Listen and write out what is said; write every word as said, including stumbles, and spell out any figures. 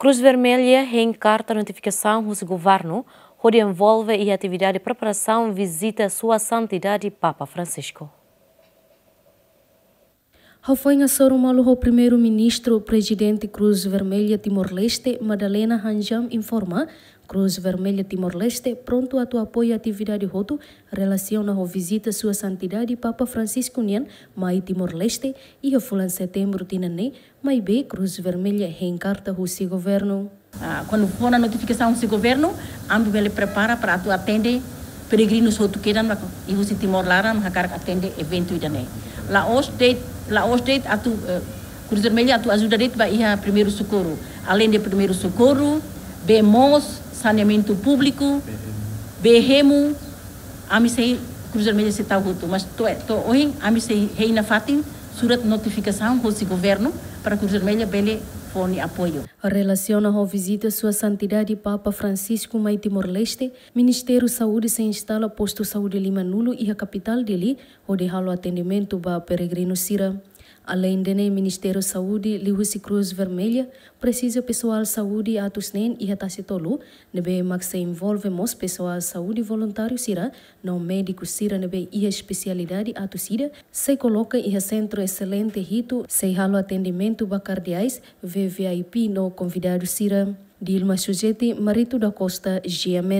Cruz Vermelha hein karta notifikasaun husi governu hodi envolve iha atividade preparasaun vizita Sua Santidade Papa Francisco. Hafoin hasoru malu ho Primeiru-Ministru, Prezidente Cruz Vermelha Timor-Leste, Madalena Hanjam, informa, Cruz Vermelha Timor-Leste prontu atu apoia atividade hotu relasiona ho vizita Sua Santidade Papa Francisco nian mai Timor-Leste iha fulan Setembru tinan ne'e, maibé Cruz Vermelha hein karta husi governu. Ah, kuandu fó ona notifikasaun husi governu, ami bele prepara para atu atende peregrinu hotu kedan mak iha husi Timor laran hakarak atende eventu ida-ne'e. La'ós de'it, la'ós de'it atu, eh, Cruz Vermelha atu ajuda de'it ba iha primeiru sokorru. Além de primeiru sokorru, bee moos, saneamentu públiku, bee hemu, ami sei, Cruz Vermelha sei tau hotu. Mas to'o, to'o ohin, ami sei hein nafatin surat notifikasaun husi governu para Cruz Vermelha bele fó nia apoiu. Relasiona ho vizita Sua Santidade Papa Francisco mai Timor-Leste, Ministériu Saúde sei instala postu saúde limanulu iha kapitál Dili, hodi halo atendimentu ba peregrinu sira. Além de ne'e, Ministériu Saúde liuhusi Cruz Vermelha presiza pesoál saúde atus neen iha Tasi Tolu, ne'ebé mak sei envolve mós pesoál saúde voluntáriu sira no médiku sira ne'ebé iha espesialidade atus ida, sei koloka iha sentru eselente hitu, sei halo atendimentu ba kardeais, V V I P no konvidadu sira. Dilma Sujeti, Marito da Costa, G M N.